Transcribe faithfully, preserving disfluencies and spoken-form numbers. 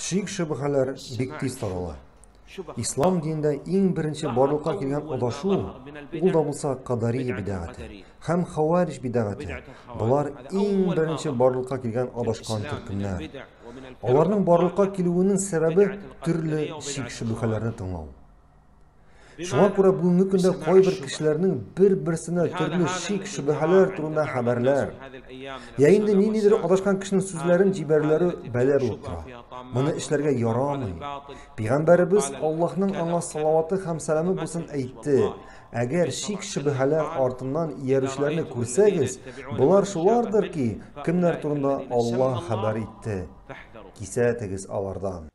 Шик-шөбһәләр бик тиз тарала. Ислам динендә иң беренче барлыкка килгән адашу, ул да булса Кадария бидәгате һәм Хавариж бидәгате. Болар иң беренче барлыкка килгән адашкан төркемнәр. Аларның барлыкка килүенең сәбәбе төрле шик-шөбһәләрне тыңлау. Шуңа күрә бүгенге көндә кайбер кешеләрнең бер-берсенә төрле шик-шөбһәләр турында хәбәрләр, я инде ниндидер адашкан кешенең сүзләрен җибәрүләре бәла булып тора. Моны эшләргә ярамый. Пәйгамбәребез Аллаһның аңа салаваты һәм сәламе булсын әйтте: әгәр шик-шөбһәләр артыннан иярүчеләрне күрсәгез, болар шулардыр ки, кемнәр турында Аллаһ хәбәр итте. Кисәтегез алардан.